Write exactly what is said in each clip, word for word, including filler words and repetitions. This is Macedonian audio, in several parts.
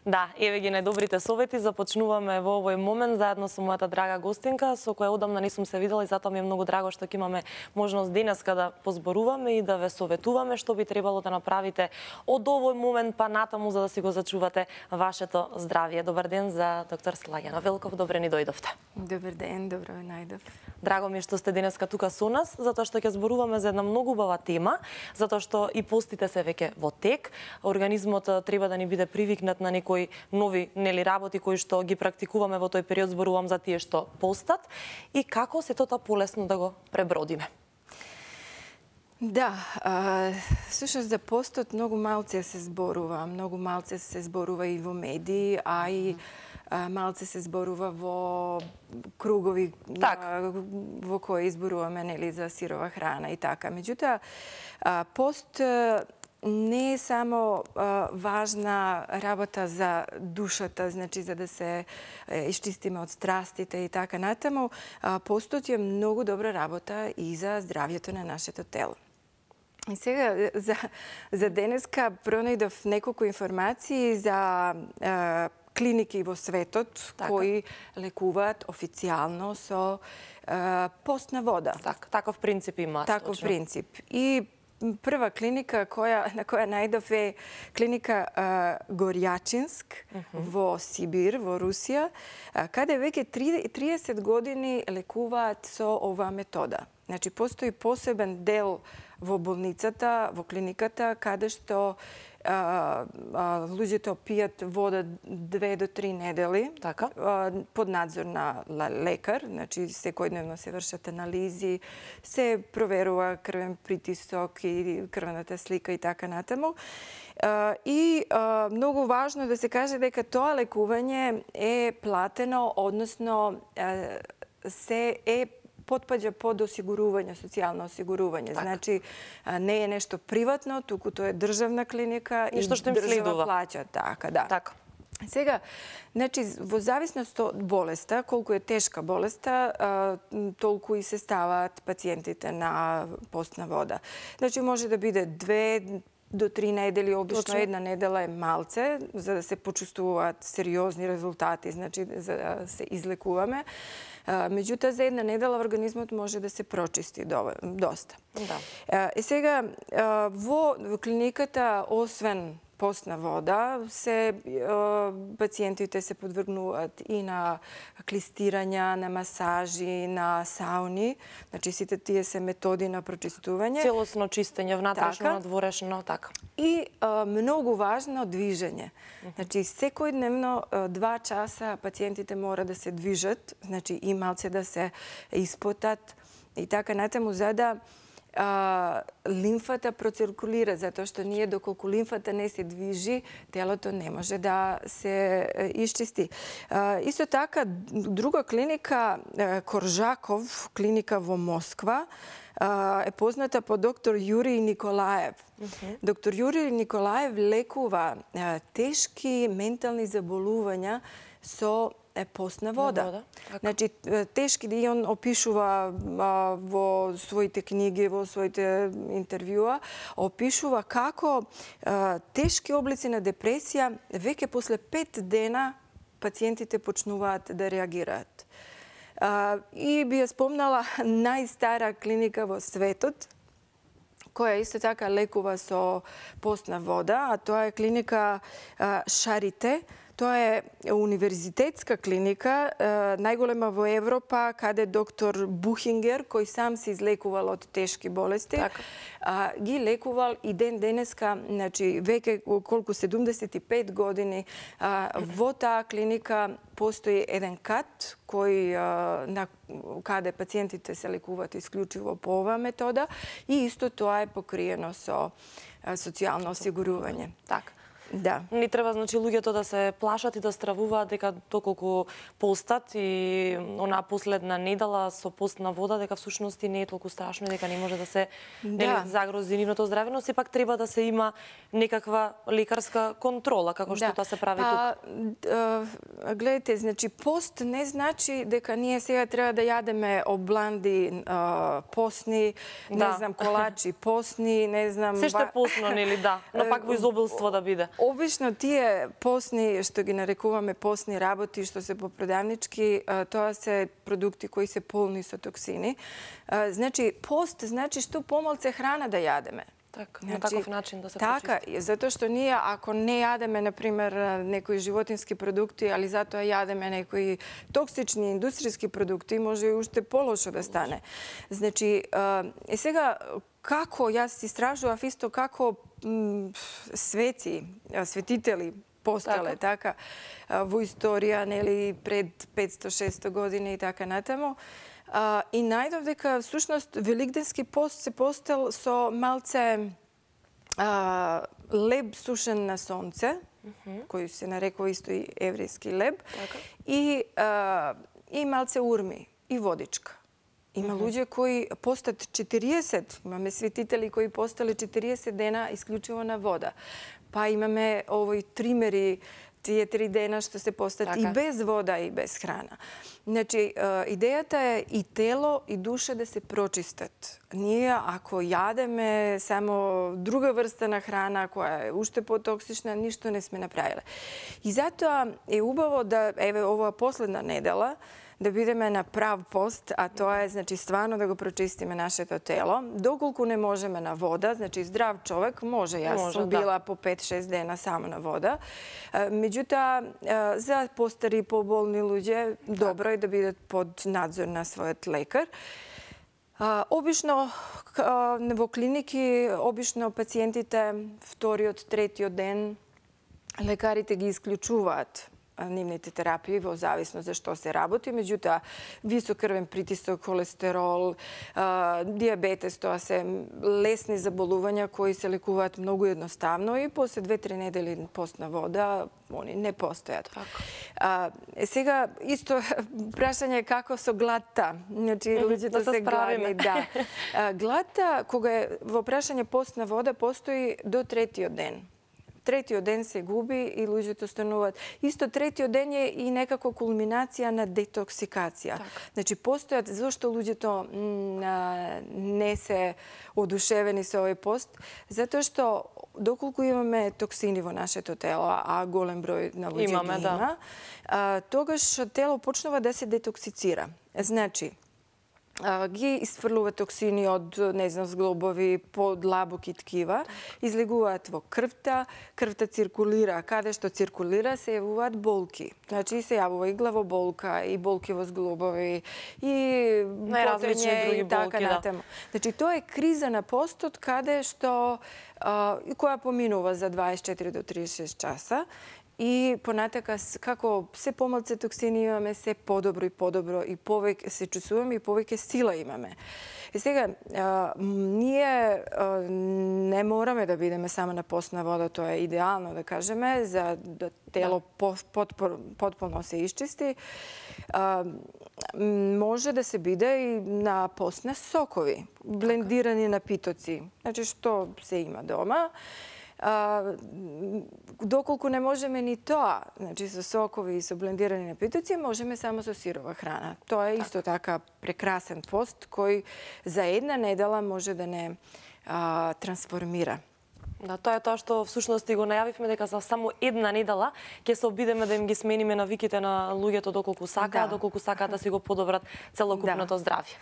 Да, еве ги најдобрите совети. Започнуваме во овој момент заедно со мојата драга гостинка, со која одамна не сум се видела и затоа ми е многу драго што ќе имаме можност денеска да позборуваме и да ве советуваме што би требало да направите од овој момент па натаму за да си го зачувате вашето здравје. Добар ден за доктор Слаѓана Велков, добре ни дојдовте. Добар ден, добро најдов. Драго ми е што сте денеска тука со нас, затоа што ќе зборуваме за една многу убава тема, затоа што и постите се веќе во тек. Организмот треба да ни биде привикнат на некои нови нели работи кои што ги практикуваме во тој период, зборувам за тие што постат и како се тоа полесно да го пребродиме. Да, а, всушност за постот многу малце се зборува, многу малце се зборува и во медии, а и а, малце се зборува во кругови так. а, во кои изборуваме нели за сирова храна и така. Меѓутоа, а, пост не е само а, важна работа за душата, значи за да се е, исчистиме од страстите и така натаму, а, постот е многу добра работа и за здравјето на нашето тело. И сега, за, за денеска пронајдов неколку информации за а, клиники во светот така. Кои лекуваат официјално со а, постна вода. Так, таков принцип има. Таков точно. принцип. И прва клиника која, на која најдов е клиника а, Горјачинск uh -huh. во Сибир, во Русија, а, каде веќе триесет години лекуваат со оваа метода. Значи, постои посебен дел во болницата, во клиниката, каде што а, а, луѓето пијат вода две до три недели така. а, под надзор на лекар, значи секојдневно се вршат анализи, се проверува крвен притисок и крвната слика и така натаму. А, и а, многу важно да се каже дека тоа лекување е платено, односно а, се е потпаѓа под осигурување, социјално осигурување. Так. Значи, не е нешто приватно, туку тоа е државна клиника и држава плаќа. Така, да. Така. Сега, значи, во зависност од болеста, колку е тешка болеста, толку и се ставаат пациентите на постна вода. Значи, може да биде две до три недели, обично една недела е малце, за да се почувствуваат сериозни резултати, значи, за да се излекуваме. Меѓутоа, за една недела организмот може да се прочисти доста. Да. И сега, во клиниката, освен постна вода, се пациентите се подвргнуваат и на клистирања, на масажи, на сауни. Значи, сите тие се методи на прочистување. Целосно чистење, внатрешно, надворешно, така. И а, многу важно движење. Значи, секојдневно два часа пациентите мора да се движат, значи и малце да се испотат и така натаму, за да а, лимфата проциркулира, затоа што ние доколку лимфата не се движи, телото не може да се исчисти. А, исто така, друга клиника, Коржаков, клиника во Москва, е позната по доктор Јурий Николаев. Uh-huh. Доктор Јурий Николаев лекува тешки ментални заболувања со постна вода. вода. Значи, тешки, и он опишува а, во своите книги, во своите интервјуа, опишува како а, тешки облици на депресија веќе после пет дена пациентите почнуваат да реагираат. Uh, и би ја спомнала најстара клиника во светот, која исто така лекува со постна вода, а тоа е клиника uh, Шарите. Тоа е универзитетска клиника, најголема во Европа, каде доктор Бухингер, кој сам се излекувал од тешки болести, така. а, ги лекувал и ден денеска, значи веќе колку седумдесет и пет години, а, во таа клиника постои еден кат кој а, на каде пациентите се лекуваат исклучиво по оваа метода и исто тоа е покриено со а, социјално осигурување. Така. Да. Не треба, значи, луѓето да се плашат и да стравуваат дека доколку постат и онаа последна недела со постна вода, дека всушност не е толку страшно и дека не може да се да. Нели, загрози нивното здравје, но сепак треба да се има некаква лекарска контрола, како што да. Тоа се прави а, тук. А, гледайте, значи, пост не значи дека ние сега треба да јадеме обланди а, постни, да. Не знам, колачи постни, не знам... Се што е постно, нели, да, но пак во изобилство да биде. Обично тие постни, што ги нарекуваме постни работи, што се попродавнички, тоа се продукти кои се полни со токсини. Значи, пост значи што помалце храна да јадеме. Така, на таков начин да се така, почисти. Затоа што ние, ако не јадеме, например, некои животински продукти, али затоа јадеме некои токсични индустријски продукти, може и уште полошо да стане. Значи, е сега, како, јас истражував исто како свети, светители постале, така, во историја, нели, пред петсто-шестсто години и така натаму. Uh, и најдов дека, всушност, Великденски пост се постел со малце uh, леб сушен на сонце, uh -huh. кој се нарекува исто и еврејски леб, така. и, uh, и малце урми, и водичка. Има uh -huh. луѓе кои постат четириесет, имаме светители кои постале четириесет дена исклучиво на вода. Па имаме овој тримери, тие три дена што се постат така. И без вода и без храна. Значи, идејата е и тело и душа да се прочистат. Ние, ако јадеме само друга врста на храна, која е уште потоксична, ништо не сме направиле. И затоа е убаво да, еве, оваа последна недела, да бидеме на прав пост, а тоа е, значи, стварно да го прочистиме нашето тело. Доколку не можеме на вода, значи, здрав човек може, јас може, сум била да. по пет-шест дена само на вода. Меѓутоа, за постари, поболни луѓе, добро е да бидат под надзор на својот лекар. Обично, во клиники, обично пациентите вториот, третиот ден, лекарите ги исклучуваат нивните терапии во зависност за што се работи. Меѓутоа, висок крвен притисок, холестерол, диабетес, тоа се лесни заболувања кои се лекуваат многу едноставно и после две-три недели постна вода они не постојат. А, сега, исто прашање како со гладта. Значи, луѓето да се, се гладни. Да. А, гладта, кога е во прашање постна вода, постои до третиот ден. Третиот ден се губи и луѓето стануваат. Исто третиот ден е и некако кулминација на детоксикација. Так. Значи, постојат, зашто луѓето не се одушевени со овој пост? Затоа што доколку имаме токсини во нашето тело, а голем број на луѓе имаме, ги има, да. тогаш тело почнува да се детоксицира. Значи, ги isfrlува токсини од, не знам, зглобови, подлабоки ткива, излегуваат во крвта, крвта циркулира, каде што циркулира се јавуваат болки. Значи се јавува и главоболка, и болки во зглобови, и потрење, и така натаму. Значи тоа е криза на постот каде што која поминува за дваесет и четири до триесет и шест часа. И понатака, како се помалце токсини имаме, се подобро и подобро и повеќе се чувствуваме и повеќе сила имаме. И сега, а, ние а, не мораме да бидеме само на постна вода, тоа е идеално да кажеме, за да тело да. потполно се исчисти. А, може да се биде и на пост на сокови, блендирани напитоци. Значи, што се има дома. А, доколку не можеме ни тоа, значи со сокови и со блендирани напитоци, можеме само со сирова храна. Тоа е исто така прекрасен пост кој за една недела може да не а, трансформира. Да, тоа е тоа што всушност и го најавивме дека за само една недела ќе се обидеме да им ги смениме навиките на луѓето доколку сакаат, да. доколку сакаат да си го подобрат целокупното да. здравје.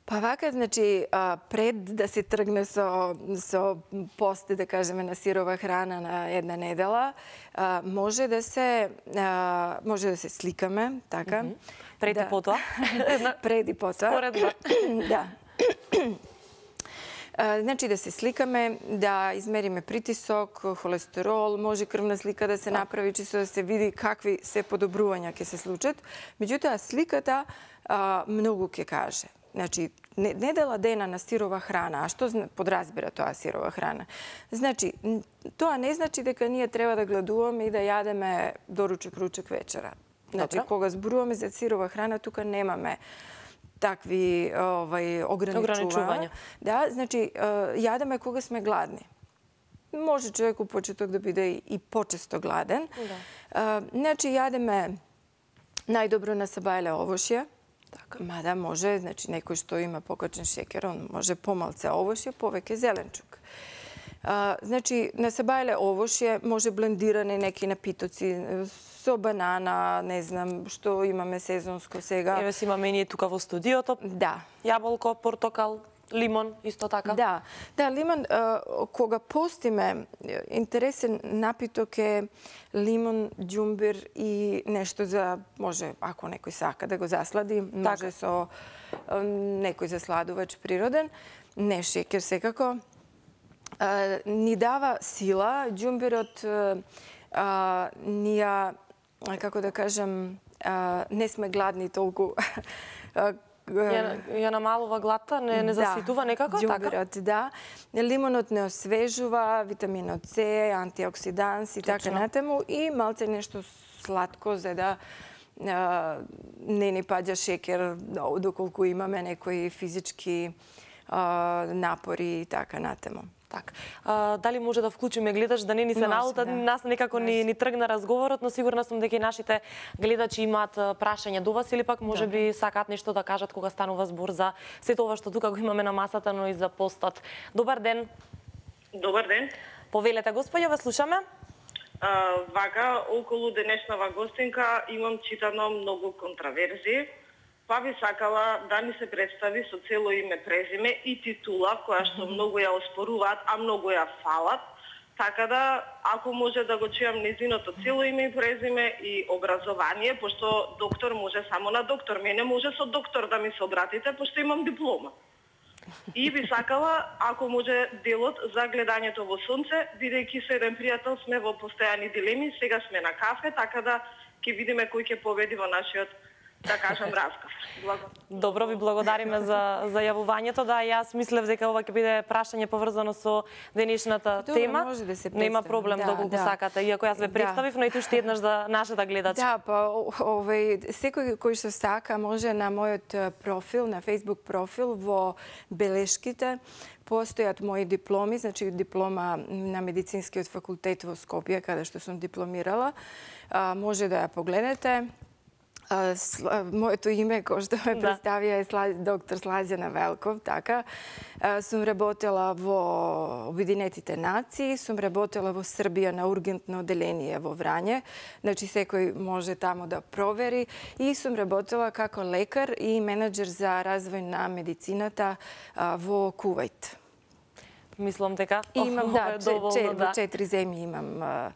Па вака, значи, пред да се тргне со, со пост, да кажеме, на сирова храна на една недела, може да се, може да се сликаме, така. Mm -hmm. Пред и да. потоа? Пред и потоа. Споредно. Да. Значи да се сликаме, да измериме притисок, холестерол, може крвна слика да се направи, чисто да се види какви се подобрувања ќе се случат. Меѓутоа, сликата а, многу ќе каже. Значи, недела дена на сирова храна, а што подразбира тоа сирова храна? Значи, тоа не значи дека ние треба да гладуваме и да јадеме доручек, ручек, вечера. Значи, Добре. Кога зборуваме за сирова храна, тука немаме такви овај ограничувања. Да, значи јадеме кога сме гладни. Може човек у почеток да биде и почесто гладен. Да. Значи јадеме најдобро на сабајле овошје. Така. Мада може, значи некој што има покачен шекер, он може помалце овошје, повеќе зеленчук. А, значи, на сабајле овошје може блендирани неки напитоци со банана, не знам, што имаме сезонско сега. Еве си имаме и ние тука во студиото. Да. Јаболко, портокал, лимон, исто така. Да, да, лимон, а, кога постиме, интересен напиток е лимон, џумбир и нешто за, може, ако некој сака да го заслади, може со а, некој засладувач природен, не шекер секако. А, ни дава сила, џумбирот а, ни ја, како да кажам, а, не сме гладни толку. Ја, ја намалува гладта, не, не заситува да, некако, џумбирот, така? Да. Лимонот не освежува, витаминот С, антиоксиданс и така натаму и малце нешто сладко за да а, не ни паѓа шекер доколку имаме некои физички а, напори и така натаму. Так. А, дали може да вклучиме гледач да не ни се налута, да. Нас некако ни, ни тргна разговорот, но сигурна сум дека и нашите гледачи имаат прашања до вас или пак може би сакаат нешто да кажат кога станува збор за сето ова што тука го имаме на масата, но и за постот. Добар ден. Добар ден. Повелете, господја, ве слушаме. А, вака, околу денешнава гостинка имам читано многу контраверзии. Па би сакала да ни се представи со цело име, презиме и титула, која што многу ја оспоруваат, а многу ја фалат. Така да, ако може да го чујам незиното цело име и презиме и образование, пошто доктор може само на доктор. Мене може со доктор да ми се обратите, пошто имам диплома. И би сакала, ако може, делот за гледањето во сонце, бидејќи со еден пријател сме во постојани дилеми, сега сме на кафе, така да ќе видиме кој ќе победи во нашиот, да кажам, разказ. Благодарам. Добро, ви благодариме за, за јавувањето. Да, јас мислев дека ова ќе биде прашање поврзано со денешната Добро, тема. може да се Нема представи. проблем Да, доколку да. сакате, иако јас ве представив, но и уште еднаш за нашата гледачка. Да, па овој секој кој што сака може на мојот профил, на Facebook профил во белешките постојат мои дипломи, значи диплома на медицинскиот факултет во Скопје, каде што сум дипломирала. А, може да ја погледнете. А, сла, моето име, кој што ме Да. представија, е Сла, доктор Слаđana Велков, така. А, сум работела во Обединетите нации, сум работела во Србија на ургентно оделение во Врање, значи секој може тамо да провери, и сум работела како лекар и менеджер за развој на медицината а, во Кувајт. Мислам дека И имам, да, ова е че, доволно, че, да. во четири земји имам а,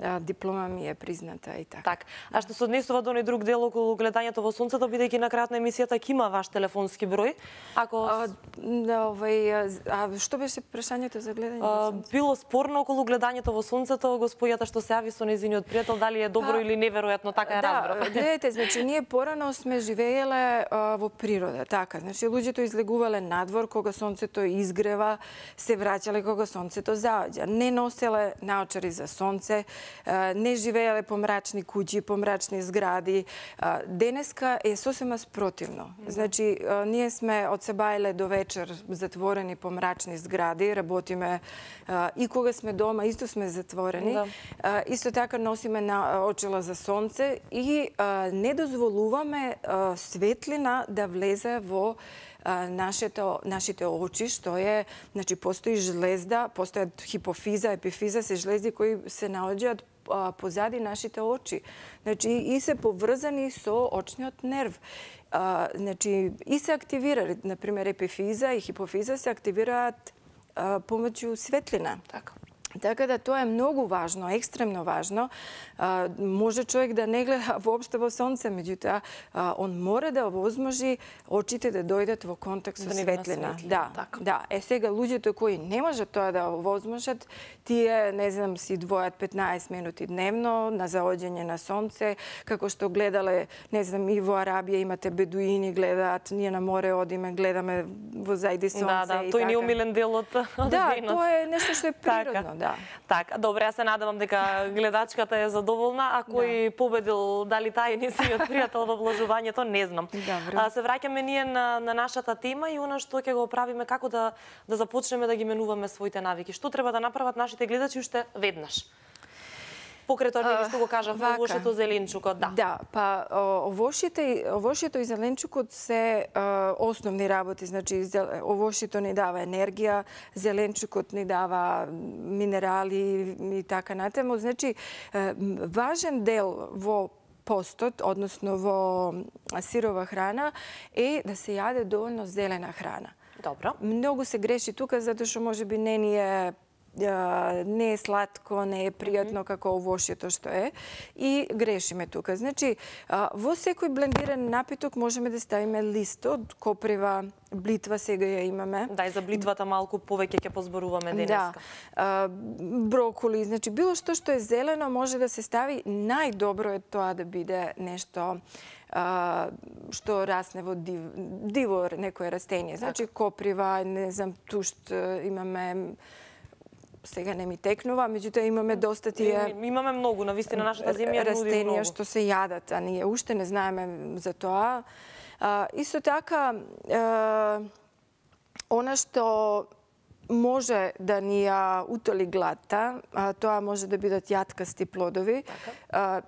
а, диплома ми е призната и така. Так. А што се однесува до оној друг дел околу гледањето во сонцето, бидејќи на крајот на емисијата ќе има ваш телефонски број, ако А, да, овај, а што беше прашањето за гледање во а, сонце? било спорно околу гледањето во сонцето, господјата што се јави со нејзиниот пријател, дали е добро Па, или неверојатно, така е Да, разбрав. гледате, значи ние порано сме живееле а, во природа, така. Значи луѓето излегувале надвор кога сонцето изгрева, се враќале кога сонцето заоѓа. Не носеле наочари за сонце, а, не живееле по мрачни куќи, по мрачни згради. А, денеска е сосема спротивно. Значи а, ние сме од сабајле до вечер затворени по мрачни згради, работиме а, и кога сме дома исто сме затворени. Да. А, исто така носиме на очила за сонце и а, не дозволуваме а, светлина да влезе во а, нашето, нашите очи, што е, значи, постои жлезда, постојат хипофиза, епифиза, се жлезди кои се наоѓаат а, позади нашите очи. Значи, и се поврзани со очниот нерв. А, значи, и се активира, например, епифиза и хипофиза се активираат а, помеѓу светлина. Така. Така да тоа е многу важно, екстремно важно. А, може човек да не гледа воопшто во сонце, меѓутоа а, он мора да овозможи очите да дојдат во контакт со Да не го светлина. насветли, Да, така. да. Е сега луѓето кои не можат тоа да овозможат, тие, не знам, си двојат петнаесет минути дневно на заоѓање на сонце, како што гледале, не знам, и во Арабија имате бедуини гледаат, ние на море одиме, гледаме во зајди сонце Да, да, и тој така. не е умилен дел од од Да, денот. тоа е нешто што е природно, да. Така, добре, јас се надевам дека гледачката е задоволна, а кој победил, дали тај е несиниот пријател во вложувањето, не знам. Добро. А, се враќаме ние на, на нашата тема и она што ќе го правиме, како да, да започнеме да ги менуваме своите навики. Што треба да направат нашите гледачи уште веднаш? Покрај тоа што го кажавме, овошето, зеленчукот, да. Да, па овошите, овошето и зеленчукот се а, основни работи, значи овошето ни дава енергија, зеленчукот ни дава минерали и така натаму. Значи важен дел во постот, односно во сирова храна, е да се јаде доволно зелена храна. Добро. Многу се греши тука затоа што можеби не ни е не е сладко, не е пријатно како овошјето што е и грешиме тука. Значи, во секој блендиран напиток можеме да ставиме лист од коприва, блитва сега ја имаме. Да, и за блитвата малку повеќе ќе позборуваме денеска. Да. Броколи, значи било што што е зелено може да се стави. Најдобро е тоа да биде нешто Uh, што расне во див, диво некое растение. Значи коприва, не знам, тушт, имаме сега не ми текнува, меѓутоа имаме доста тие имаме многу, навистина нашата земја нуди многу растенија што се јадат, а ние уште не знаеме за тоа. Uh, исто така uh, она што може да ни ја утоли гладта, а, тоа може да бидат јаткасти плодови, а,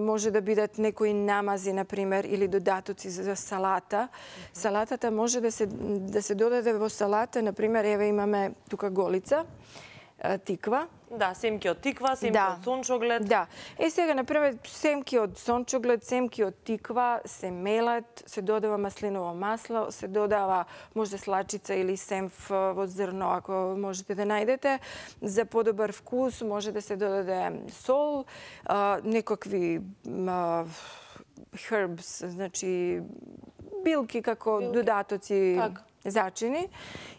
може да бидат некои намази, например, или додатоци за салата. Mm-hmm. Салатата може да се, да се додаде во салата, например, еве имаме тука голица, а, тиква. Да, семки од тиква, семки да. од сончоглед. Да. Е сега, например, семки од сончоглед, семки од тиква се мелат, се додава маслиново масло, се додава може слачица или семф во зрно, ако можете да најдете. За подобар вкус може да се додаде сол, а, некакви а, herbs, значи билки како билки. Додатоци. Так. Зачини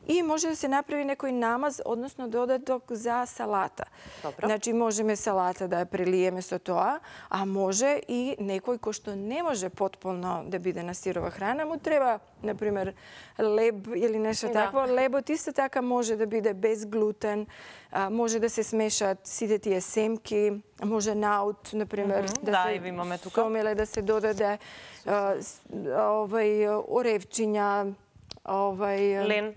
и може да се направи некој намаз, односно додаток за салата. Добро. Значи можеме салата да ја прелиеме со тоа, а може и некој кој што не може потполно да биде на сирова храна, му треба, например, леб или нешто да. Такво. Лебот исто така може да биде без глутен, може да се смешат сите тие семки, може наут, например, mm-hmm. да, да се имаме тука. Сомеле да се додаде, овај оревчиња, Овај, лен,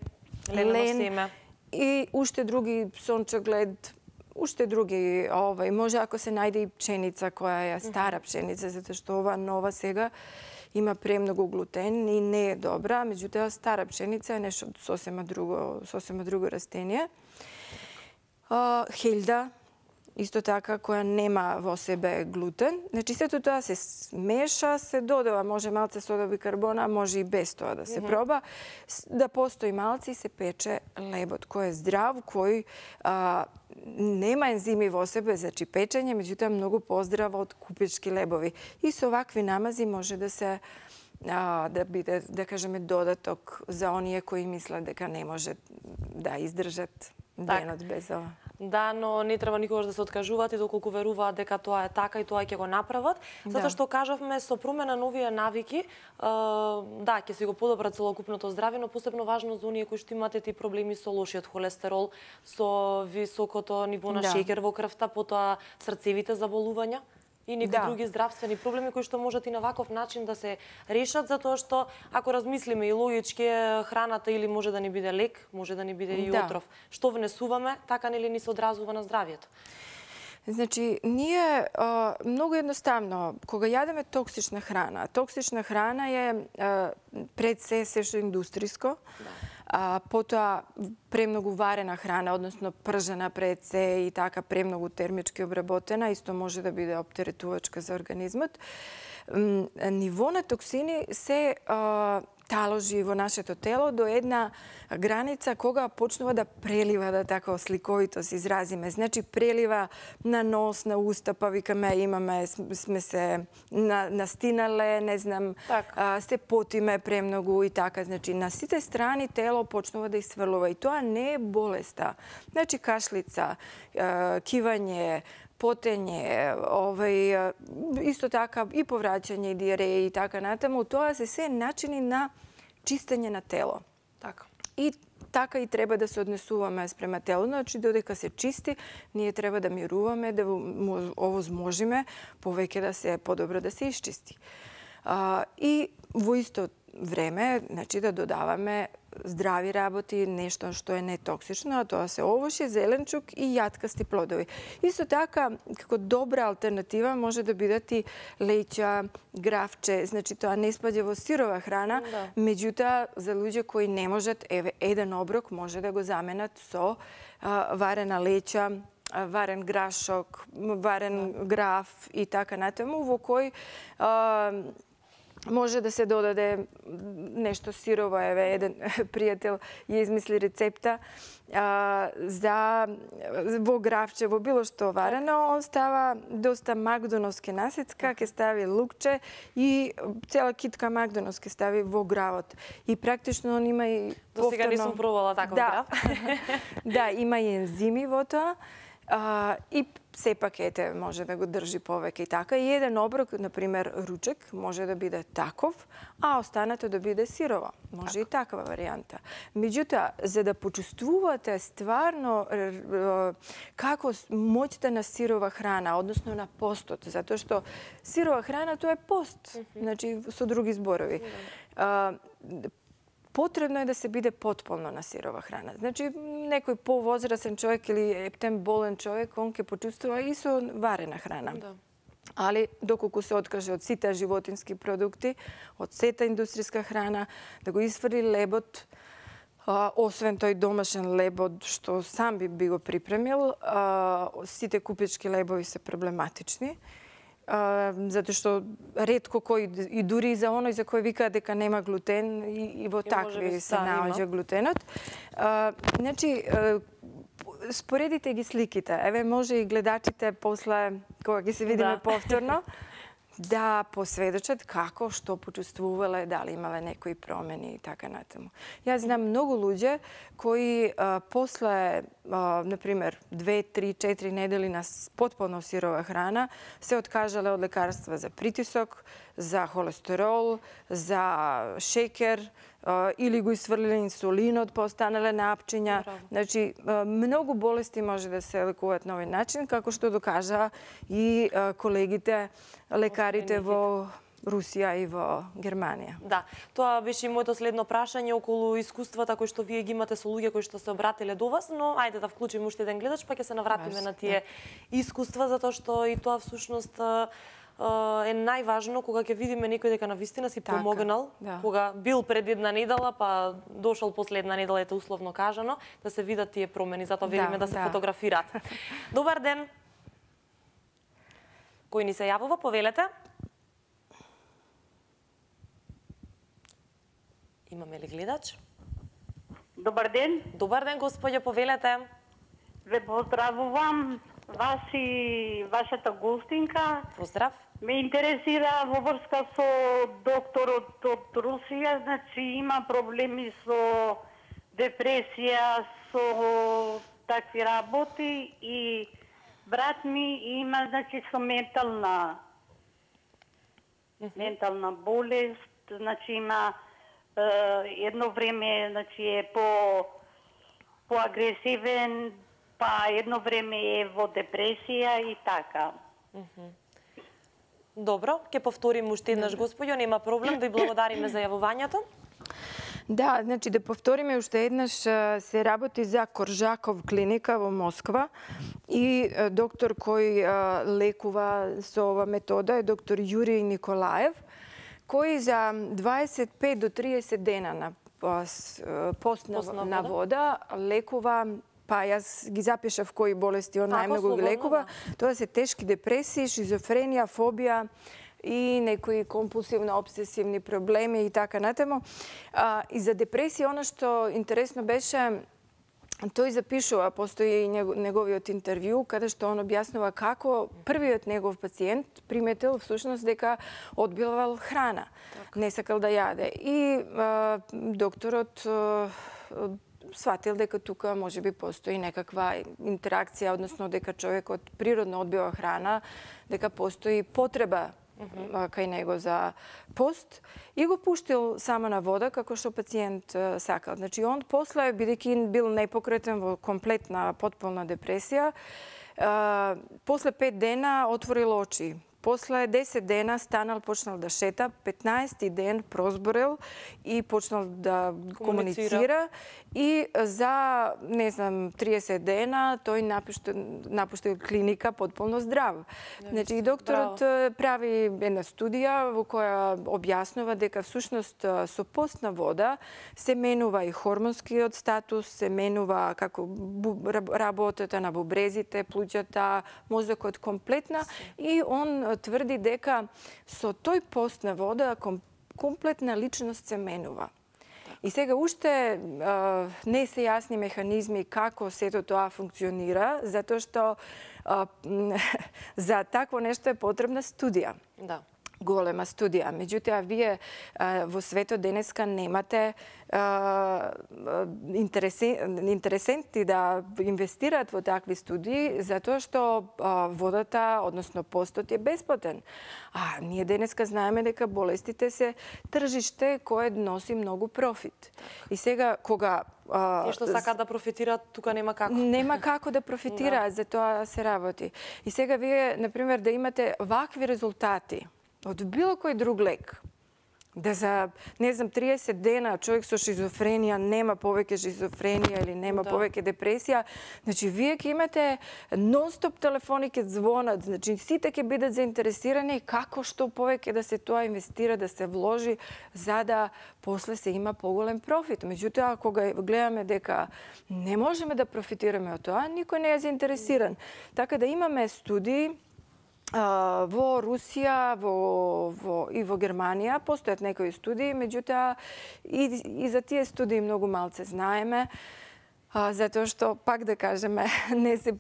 ленено семе. И уште други сончоглед, уште други, овај, може ако се најде и пшеница која е стара пшеница, затоа што ова нова сега има премногу глутен и не е добра, меѓутоа стара пшеница е нешто сосема друго, сосема друго растение. Хелда, исто така, која нема во себе глутен. Значи, сето тоа се смеша, се додава, може малце сода бикарбона, може и без тоа да се mm-hmm. проба. Да постои малце и се пече лебот, кој е здрав, кој а, нема ензими во себе, значи печење, меѓутоа многу поздрава од купечки лебови. И со вакви намази може да се а, да биде, да кажеме, додаток за оние кои мислат дека не може да издржат денот без ова. Да, но не треба никогаш да се откажуваат и доколку веруваат дека тоа е така и тоа ќе го направат. Затоа што кажавме со промена на овие навики, да, ќе се го подобра целокупното здравје, но посебно важно за оние кои што имате ти проблеми со лошиот холестерол, со високото ниво на да. Шеќер во крвта, потоа срцевите заболувања и некои да. Други здравствени проблеми кои што можат и на ваков начин да се решат, затоа што ако размислиме и логички, храната или може да ни биде лек, може да ни биде и да. Отров. Што внесуваме, така нели ни се одразува на здравјето? Значи, ние а, многу едноставно, кога јадеме токсична храна, токсична храна е а, пред се се што индустриско, да. А, потоа премногу варена храна, односно пржена пред се и така премногу термички обработена, исто може да биде оптеретувачка за организмот. М, ниво на токсини се а, таложи во нашето тело до една граница кога почнува да прелива, да така сликовито се изразиме. Значи прелива на нос, на уста, па викаме имаме, сме се на, настинале, не знам, а, се потиме премногу и така. Значи на сите страни тело почнува да исфрлува и тоа не е болеста. Значи кашлица, а, кивање, потење, овај, исто така и повраќање, и диареја и така натаму, тоа се се начини на чистење на тело. Така. И така и треба да се однесуваме спрема тело. Значи, додека се чисти, ние треба да мируваме, да овозможиме повеќе да се подобро да се исчисти. А, и во исто време, значи да додаваме здрави работи, нешто што е нетоксично, а тоа се овошје, зеленчук и јаткасти плодови. Исто така, како добра алтернатива може да бидат и леќа, гравче, значи тоа не спаѓа во сирова храна, Да. меѓутоа за луѓе кои не можат, еве еден оброк може да го заменат со а, варена леќа, а, варен грашок, варен граф и така натаму, во кој а, може да се додаде нешто сирово, еве еден пријател ја измисли рецепта а, за во гравче, во било што варено, он става доста макдоновски насецка, ќе стави лукче и цела китка макдонов ќе стави во гравот. И практично он има и До сега повторно- нисум пробала таков да. грав. Да, има и ензими во тоа. А, и сепак ете може да го држи повеќе и така. И еден оброк, например ручек, може да биде таков, а останато да биде сирово. Може и таква варијанта. Меѓутоа, за да почувствувате стварно р- р- како с- моќта на сирова храна, односно на постот, затоа што сирова храна тоа е пост, значи со други зборови. А, Потребно е да се биде потполно на сирова храна. Значи, некој повозрасен човек или ептен болен човек, он ќе почувствува и со варена храна. Да. Али, доколку се откаже од сите животински продукти, од сета индустријска храна, да го изфрли лебот, а, освен тој домашен лебот, што сам би, би го припремил, а, сите купечки лебови се проблематични. Uh, затоа што ретко кој и дури и за оној за кој викаат дека нема глутен и, и во И такви можеби се да, наоѓа има. глутенот. Uh, значи, uh, споредите ги сликите. Еве може и гледачите после кога ќе се видиме Да. повторно да посведочат како, што почувствувале, дали имале некои промени и така натаму. Јас знам многу луѓе кои а, после, а, например, две, три, четири недели на с- потполно сирова храна се откажале од лекарства за притисок, за холестерол, за шекер, а, или го исфрлиле инсулинот, па останале на апчиња. Браво. Значи, а, многу болести може да се лекуваат на овој начин, како што докажа и а, колегите лекарите во Русија и во Германија. Да, тоа беше и моето следно прашање околу искуствата кои што вие ги имате со луѓе кои што се обратиле до вас, но ајде да вклучиме уште еден гледач, па ќе се навратиме Може, на тие искуства, затоа што и тоа всушност а, а, е најважно кога ќе видиме некој дека навистина си Така, помогнал, да. кога бил пред една недела, па дошол после една недела, ете условно кажано, да се видат тие промени, затоа Да, велиме да се да. фотографираат. Добар ден. Кој ни се јавува, повелете? Имаме ли гледач? Добар ден, Добар ден, господја, повелете. ве поздравувам вас и вашата гостинка. Поздрав. Ме интересира во врска со докторот од Русија, значи има проблеми со депресија, со такви работи и брат ми има значи со ментална ментална болест, значи има е, едно време значи е по поагресивен, па едно време е во депресија и така. Добро, ќе повторим уште еднаш, господјо, нема проблем, да и благодариме за јавувањето. Да, значи да повториме уште еднаш, а, се работи за Коржаков клиника во Москва и а, доктор кој а, лекува со ова метода е доктор Јуриј Николаев, кој за дваесет и пет до триесет дена на а, с- а, пост на, Пост на на вода. вода лекува, па јас ги запишав кои болести он Ако, најмногу ги слободно, лекува. Тоа се тешки депресии, шизофренија, фобија и некои компулсивно-обсесивни проблеми и така натаму. А, и за депресија, она што интересно беше, тој запишува, постои и него- неговиот интервју, каде што он објаснува како првиот негов пациент приметил всушност дека одбивал храна, не сакал да јаде. И а, докторот а, сватил дека тука можеби постои некаква интеракција, односно дека човекот природно одбива храна, дека постои потреба а, кај него за пост и го пуштил само на вода како што пациент а, сакал. Значи он после, бидејќи бил непокретен во комплетна потполна депресија, а, после пет дена отворил очи. После десет дена станал, почнал да шета, петнаести ден прозборел и почнал да комуницира. И за, не знам, триесет дена тој напуштил, напуштил клиника потполно здрав. Значи, и докторот Браво. прави една студија во која објаснува дека всушност со постна вода се менува и хормонскиот статус, се менува како работата на бубрезите, плуќата, мозокот комплетна и он тврди дека со тој пост на вода комплетна личност се менува. И сега уште а, не се јасни механизми како сето тоа функционира, затоа што а, за такво нешто е потребна студија. Да. Голема студија. Меѓутоа, вие а, во светот денеска немате а, интересенти да инвестираат во такви студии, затоа што а, водата, односно постот е бесплатен. А ние денеска знаеме дека болестите се тржиште кое носи многу профит. И сега, кога Тие што сакаат да профитираат, тука нема како. Нема како да профитираат, за тоа се работи. И сега вие, например, да имате вакви резултати од било кој друг лек, да за, не знам, триесет дена човек со шизофренија нема повеќе шизофренија или нема да. повеќе депресија, значи вие ќе имате нон-стоп телефони ќе звонат, значи сите ќе бидат заинтересирани како што повеќе да се тоа инвестира, да се вложи, за да после се има поголем профит. Меѓутоа, кога гледаме дека не можеме да профитираме од тоа, никој не е заинтересиран. Така да имаме студии во Русија во, во, и во Германија постојат некои студии, меѓутоа и, и за тие студии многу малце знаеме, а, затоа што, пак да кажеме, не се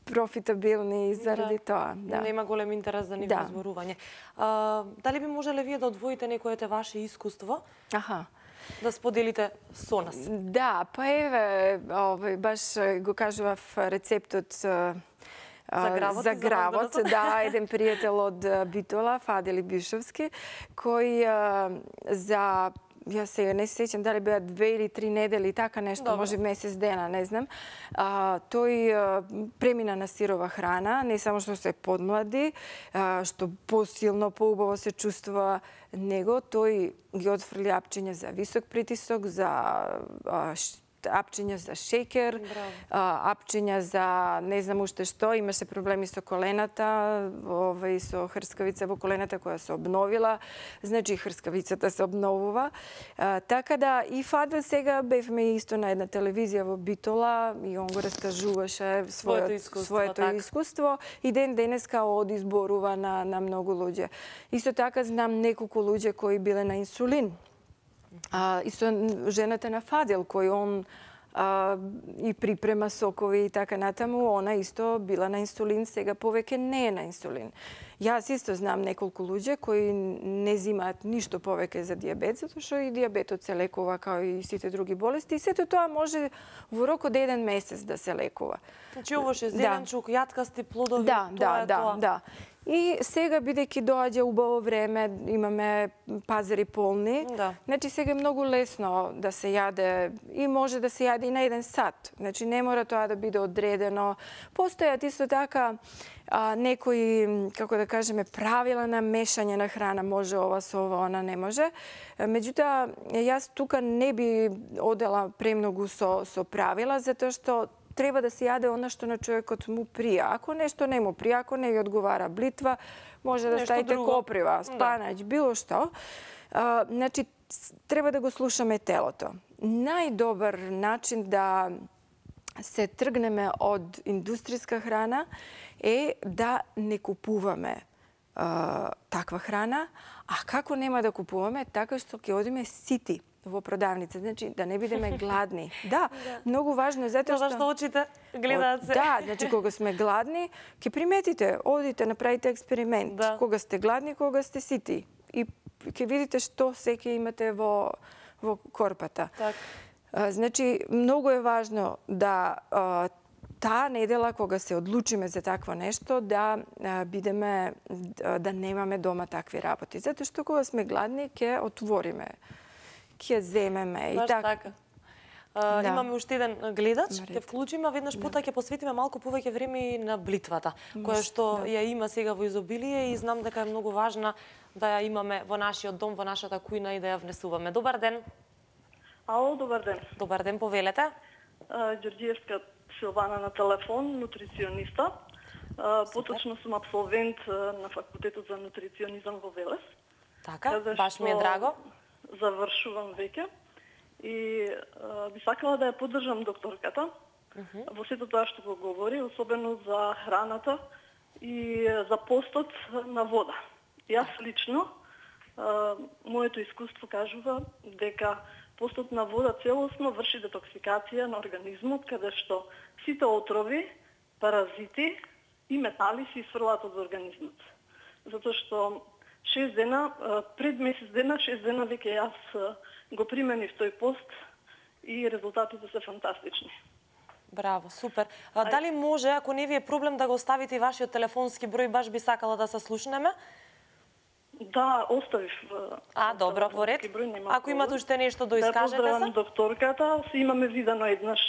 профитабилни заради да. тоа. Да. Нема голем интерес за нивно да. зборување. А, дали би можеле вие да одвоите некојете ваше искуство? Аха. Да споделите со нас? Да, па еве, овој, баш го кажував рецептот За гравот, за гравот, да, еден пријател од Битола, Фадели Бишовски, кој за, ја сега не се сеќам дали беа две или три недели, така нешто, Добре. може месец дена, не знам, а, тој а, премина на сирова храна, не само што се подмлади, а, што посилно, поубаво се чувствува него, тој ги отфрли апчиња за висок притисок, за а, апчиња за шеќер, апчиња за не знам уште што, имаше проблеми со колената, овој со хрскавица во колената која се обновила, значи хрскавицата се обновува. А, така да и Фадел сега бевме исто на една телевизија во Битола и он го раскажуваше своето искуство, своето так. искуство и ден денеска оди зборува на на многу луѓе. Исто така знам неколку луѓе кои биле на инсулин. А, исто жената на Фадел, кој он а, и припрема сокови и така натаму, она исто била на инсулин, сега повеќе не е на инсулин. Јас исто знам неколку луѓе кои не зимаат ништо повеќе за дијабет, затоа што и дијабетот се лекува као и сите други болести и сето тоа може во рок од еден месец да се лекува. Значи овоше зеленчук, да. јаткасти плодови, да, тоа да, е да, тоа. Да. И сега, бидејќи доаѓа убаво време, имаме пазари полни, да. значи сега е многу лесно да се јаде и може да се јаде и на еден сат. Значи не мора тоа да биде одредено. Постојат исто така а, некои, како да кажеме, правила на мешање на храна, може ова со ова, она не може. Меѓутоа, јас тука не би одела премногу со, со правила, затоа што треба да се јаде она што на човекот му прија. Ако нешто не му прија, ако не ви одговара блитва, може да нешто ставите друго. коприва, спанач, да. било што. А, значи, треба да го слушаме телото. Најдобар начин да се тргнеме од индустријска храна е да не купуваме а, таква храна, а како нема да купуваме, така што ќе одиме сити во продавница, значи да не бидеме гладни. Да, да. многу важно, затоа што... Тоа што очите гледаат се. Да, значи кога сме гладни, ќе приметите, одите, направите експеримент. Да. Кога сте гладни, кога сте сити. И ќе видите што секи имате во, во корпата. Так. А, значи, многу е важно да а, таа недела, кога се одлучиме за такво нешто, да а, бидеме, да, да немаме дома такви работи. Затоа што кога сме гладни, ќе отвориме, ќе земеме. Баш и так... така. Да. Имаме уште еден гледач, ќе вклучиме, веднаш Да. пота ќе посветиме малку повеќе време и на блитвата, која што да. ја има сега во изобилие и знам дека е многу важна да ја имаме во нашиот дом, во нашата кујна и да ја внесуваме. Добар ден. Ало, добар ден. Добар ден, повелете. Ѓорѓиевска Силвана на телефон, нутрициониста. Поточно сум абсолвент на факултетот за нутриционизам во Велес. Така, баш ми е драго. Завршувам веќе и би сакала да ја поддржам докторката uh -huh. во сето тоа што го говори, особено за храната и за постот на вода. Јас лично, моето искуство кажува дека постот на вода целосно врши детоксикација на организмот, каде што сите отрови, паразити и метали се исфрлаат од организмот. Затоа што шест дена, пред месец дена, шест дена веќе јас го применив тој пост и резултатите се фантастични. Браво, супер. А, дали може, ако не ви е проблем, да го оставите и вашиот телефонски број, баш би сакала да се слушнеме? Да, оставив. А, добро, во ред. Број, ако имате уште нешто да искажете се? Да поздравам докторката, се имаме видено еднаш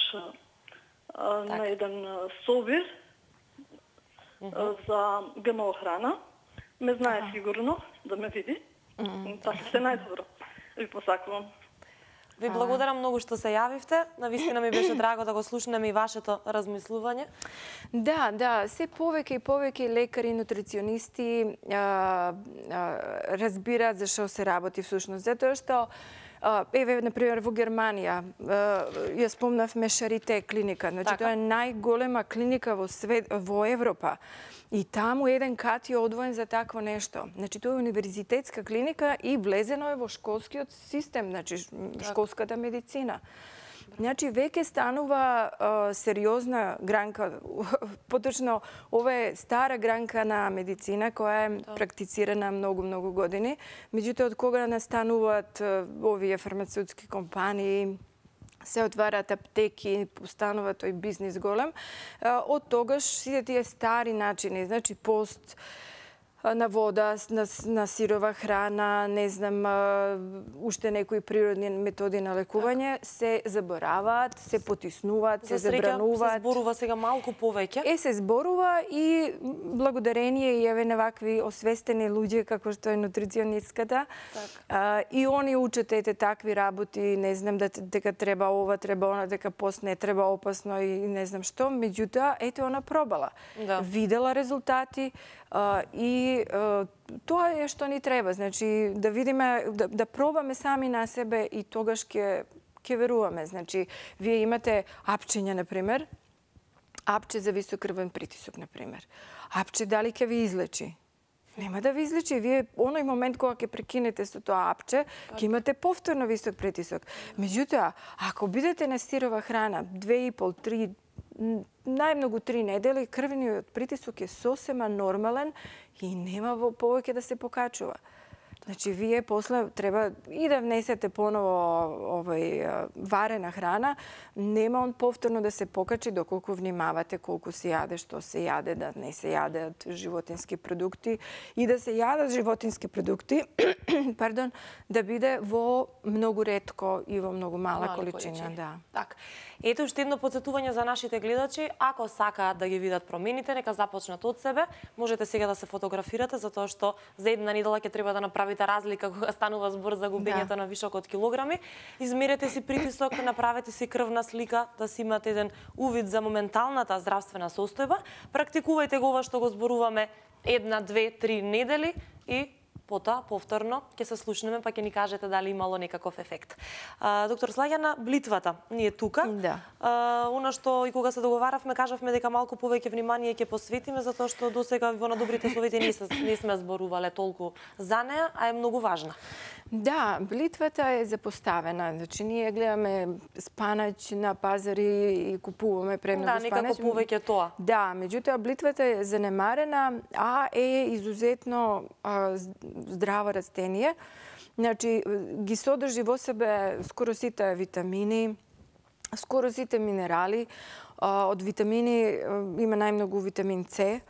так. на еден собир uh -huh. за ГМО храна. Ме знае uh -huh. сигурно да ме види. Uh -huh. Така се најдобро. Ви посакувам. Ви благодарам многу што се јавивте. Навистина ми беше драго да го слушнеме и вашето размислување. Да, да, се повеќе и повеќе лекари, нутриционисти а, а, разбираат за што се работи всушност. Затоа што еве, например, во Германија, ја спомнавме Шарите клиника, значи така. Тоа е најголема клиника во свет, во Европа. И таму еден кат е одвоен за такво нешто. Значи, тоа е универзитетска клиника и влезено е во школскиот систем, значи, школската медицина. Значи, веќе станува а, сериозна гранка, поточно, ова е стара гранка на медицина, која е да. практицирана многу-многу години. Меѓутоа, од кога настануваат а, овие фармацеутски компании, се отвараат аптеки, постанува тој бизнис голем, од тогаш сите тие стари начини, значи пост на вода, на, на сирова храна, не знам, уште некои природни методи на лекување, так. се забораваат, се потиснуваат, се забрануваат. Се зборува сега малку повеќе. Е, се зборува и благодарение и еве на вакви освестени луѓе како што е нутриционистката. Так. А, и они учат ете такви работи, не знам да, дека треба ова, треба она, дека пост не треба, опасно и не знам што. Меѓутоа, ете она пробала. Да. Видела резултати а, и тоа е што ни треба, значи да видиме, да, да пробаме сами на себе и тогаш ќе ќе веруваме. Значи, вие имате апчења, например, апче за висок крвен притисок, например. Апче дали ќе ви излечи? Нема да ви излечи. Вие оној момент кога ќе прекинете со тоа апче, ќе имате повторно висок притисок. Меѓутоа, ако бидете на сирова храна две и пол, три, најмногу три недели, крвениот притисок е сосема нормален и нема во повеќе да се покачува. Значи, вие после треба и да внесете поново овој варена храна, нема он повторно да се покачи доколку внимавате колку се јаде, што се јаде, да не се јадат животински продукти и да се јадат животински продукти, пардон, да биде во многу ретко и во многу мала Мали количина, количина. Да. Так. Ето уште едно потсетување за нашите гледачи, ако сакаат да ги видат промените, нека започнат од себе. Можете сега да се фотографирате затоа што за една недела ќе треба да направите разлика кога станува збор за губењето да. на вишок од килограми. Измерете си притисок, направете си крвна слика, да си имате еден увид за моменталната здравствена состојба. Практикувајте го ова што го зборуваме една, две, три недели и потоа повторно ќе се слушнеме, па ќе ни кажете дали имало некаков ефект. А, доктор Слаѓана, блитвата ни е тука. Да. А, она што и кога се договаравме, кажавме дека малку повеќе внимание ќе посветиме, затоа што досега во на добрите совети не, се, не сме зборувале толку за неа, а е многу важна. Да, блитвата е запоставена. Значи, ние гледаме спанач на пазари и купуваме премногу да, спанач. Да, некако повеќе тоа. Да, меѓутоа, блитвата е занемарена, а е изузетно а, здраво растение. Значи, ги содржи во себе скоро сите витамини, скоро сите минерали. А, од витамини има најмногу витамин С.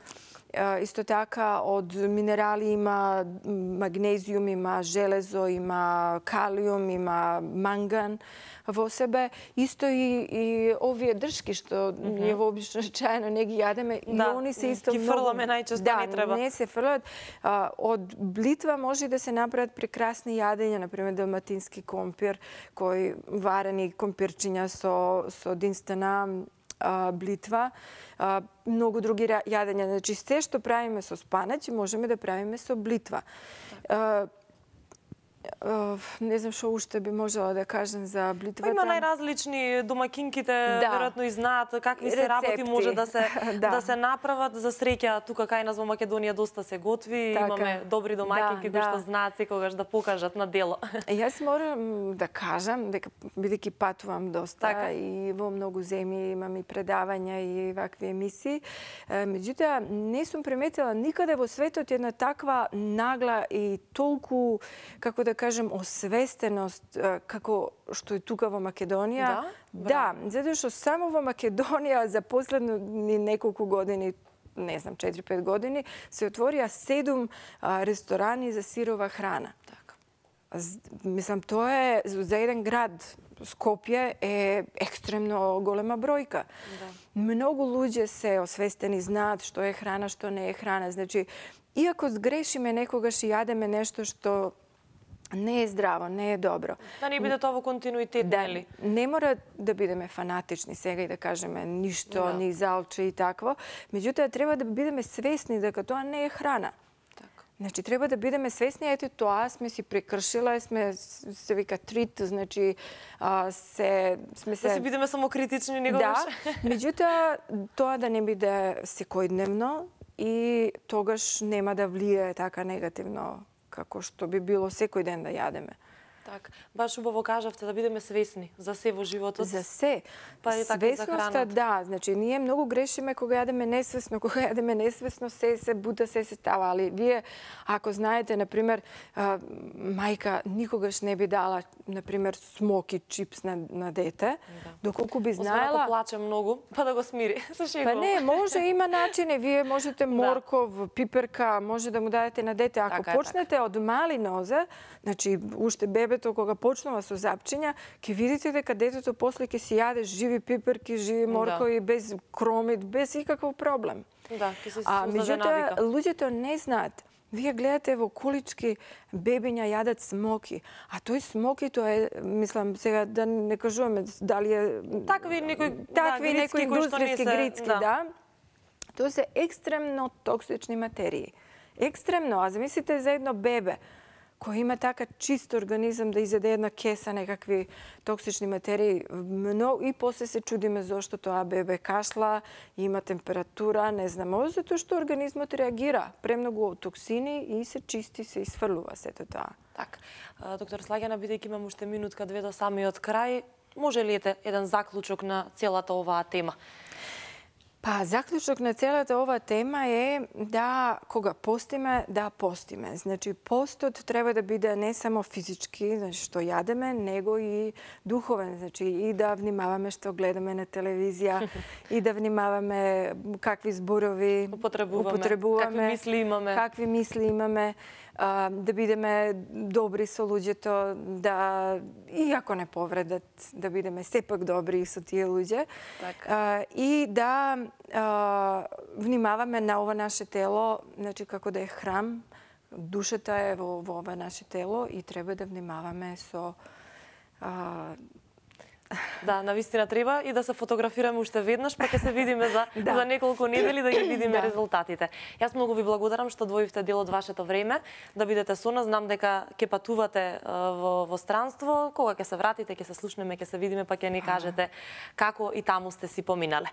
Исто така од минерали има магнезиум, има железо, има калиум, има манган во себе. Исто и, и овие дршки што ние вообично чајно не ги јадеме, да, и они се исто ги многу... фрламе најчесто, да, не треба. не се фрлат. Од блитва може да се направат прекрасни јадења, например далматински компир, кој варени компирчиња со, со динстена блитва, многу други јадења. Значи, се што правиме со спанаќ, можеме да правиме со блитва. Не знам што уште би можела да кажем за блитвата. Има најразлични домакинките, да. веројатно и знаат какви се Рецепти. работи може да се да. да се направат. За среќа тука кај нас во Македонија доста се готви, така. Имаме добри домакинки да, кои што да. знаат секогаш да покажат на дело. Јас морам да кажам дека бидејќи патувам доста така. И во многу земји имам и предавања и вакви емисии, меѓутоа не сум приметила никаде во светот една таква нагла и толку, како да кажем, освестеност како што е тука во Македонија. Да? Да, затоа што само во Македонија за последни неколку години, не знам, четири-пет години, се отворија седум ресторани за сирова храна. Така. Мислам, тоа е за еден град. Скопје е екстремно голема бројка. Да. Многу луѓе се освестени, знаат што е храна, што не е храна. Значи, иако сгрешиме некогаш и јадеме нешто што не е здраво, не е добро. Да не биде тоа во континуитет, да, нели? Не мора да бидеме фанатични сега и да кажеме ништо, да. Ни залче и такво. Меѓутоа, треба да бидеме свесни дека тоа не е храна. Така. Значи, треба да бидеме свесни, ете тоа сме си прекршила, сме се вика трит, значи а, се сме се Да си бидеме самокритични негогаш. Да. Меѓутоа, тоа да не биде секојдневно и тогаш нема да влие така негативно како што би било секој ден да јадеме. Так, баш убаво кажавте да бидеме свесни за се во животот. За се. Па и така и за храната. Да, значи ние многу грешиме кога јадеме несвесно, кога јадеме несвесно се се бута, се се става, али вие ако знаете, на пример, мајка никогаш не би дала, на пример, смоки чипс на, на дете, да. Доколку би знаела... Освен ако плаче многу, па да го смири. Се шегувам. Па не, може, има начини. Вие можете морков, да. Пиперка, може да му дадете на дете. Ако така почнете така. Од мали нозе, значи уште бебето кога почнува со запчиња, ќе видите дека детето после ќе си јаде живи пиперки, живи моркови, да. Без кромит, без никаков проблем. Да, ќе се а меѓутоа луѓето не знаат. Вие гледате во колички бебиња јадат смоки, а тој смоки тоа е, мислам сега да не кажуваме дали е такви некои такви да, некои индустријски грицки, да. Да. Тоа се екстремно токсични материи. Екстремно, а замислите за едно бебе кој има така чист организам да изеде една кеса некакви токсични материи, и после се чудиме зошто тоа бебе кашла, има температура, не знамо, затоа што организмот реагира премногу токсини и се чисти, се исфрлува сето тоа. Так, доктор Слагјана, бидејќи имам уште минутка две до самиот крај, може ли ете еден заклучок на целата оваа тема? Па, заклучок на целата ова тема е да, кога постиме, да постиме. Значи, постот треба да биде не само физички, значи, што јадеме, него и духовен. Значи, и да внимаваме што гледаме на телевизија, и да внимаваме какви зборови употребуваме, употребуваме какви мисли имаме. Какви мисли имаме. Да бидеме добри со луѓето, да, иако не повредат, да бидеме сепак добри со тие луѓе. Така. И да а, внимаваме на ова наше тело, значи како да е храм, душата е во, во ова наше тело и треба да внимаваме со... А, Да, навистина треба и да се фотографираме уште веднаш, па ќе се видиме за, да. за неколку недели да ги видиме да. резултатите. Јас многу ви благодарам што одвоивте дел од вашето време да бидете со нас. Знам дека ќе патувате во, во странство. Кога ќе се вратите, ќе се слушнеме, ќе се видиме, па ќе ни кажете како и таму сте си поминале.